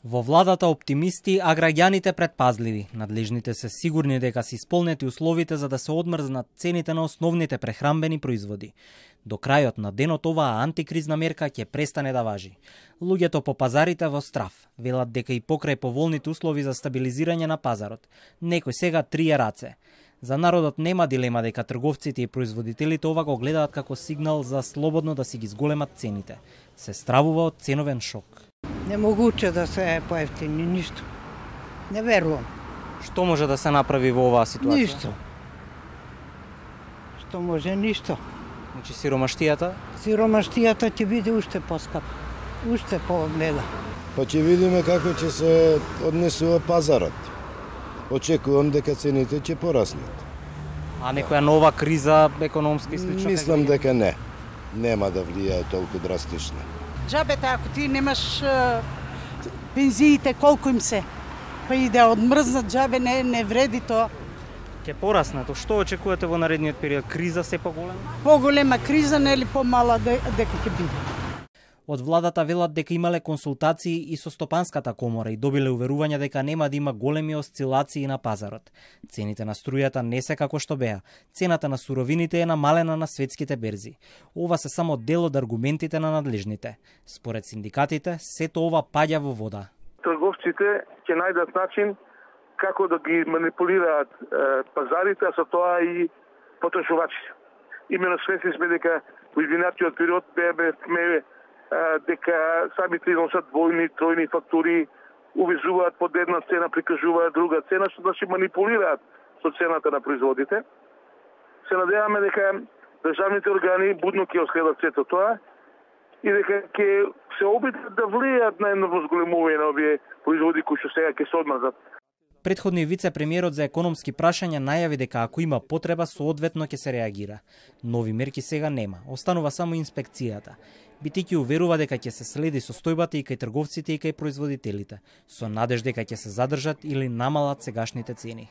Во владата оптимисти, а граѓаните предпазливи. Надлежните се сигурни дека се исполнети условите за да се одмрзнат цените на основните прехранбени производи. До крајот на денот оваа антикризна мерка ќе престане да важи. Луѓето по пазарите во страв велат дека и покрај поволните услови за стабилизирање на пазарот, некој сега трие раце. За народот нема дилема дека трговците и производителите ова го гледаат како сигнал за слободно да си ги зголемат цените. Се стравува од ценовен шок. Немогуче да се поевтини, ништо. Не верувам. Што може да се направи во оваа ситуација? Ништо. Што може, ништо. Значи сиромаштијата? Сиромаштијата ќе биде уште поскапа, уште помеда. Па ќе видиме како ќе се однесува пазарот. Очекувам дека цените ќе пораснат. А некоја нова криза економска и слично? Мислам дека не. Нема да влијае толку драстично. Джабете, ако ти немаш пензиите, колку им се, па и да одмрзнат джабе, не вреди тоа. Ќе пораснат. Што очекувате во наредниот период? Криза се поголема? Поголема криза, нели помала дека ќе биде. Од владата велат дека имале консултации и со Стопанската комора и добиле уверување дека нема да има големи осцилации на пазарот. Цените на струјата не се како што беа. Цената на суровините е намалена на светските берзи. Ова се само дел од аргументите на надлежните. Според синдикатите, сето ова паѓа во вода. Трговците ќе најдат начин како да ги манипулираат пазарите, а со тоа и потрошувачите. Имено свесни сме дека во изминатиот период беа дека самите износат двојни, тројни фактури, увезуваат под една цена, прикажуваат друга цена, што значи манипулираат со цената на производите. Се надеваме дека државните органи будно ќе оследат сето тоа и дека ќе се обидат да влијаат на едно возголемување на овие производи кои што сега ќе се одмрзат. Претходниот вице-премиерот за економски прашања најави дека ако има потреба, соодветно ќе се реагира. Нови мерки сега нема, останува само инспекцијата. Битики уверува дека ќе се следи состојбата и кај трговците и кај производителите, со надеж дека ќе се задржат или намалат сегашните цени.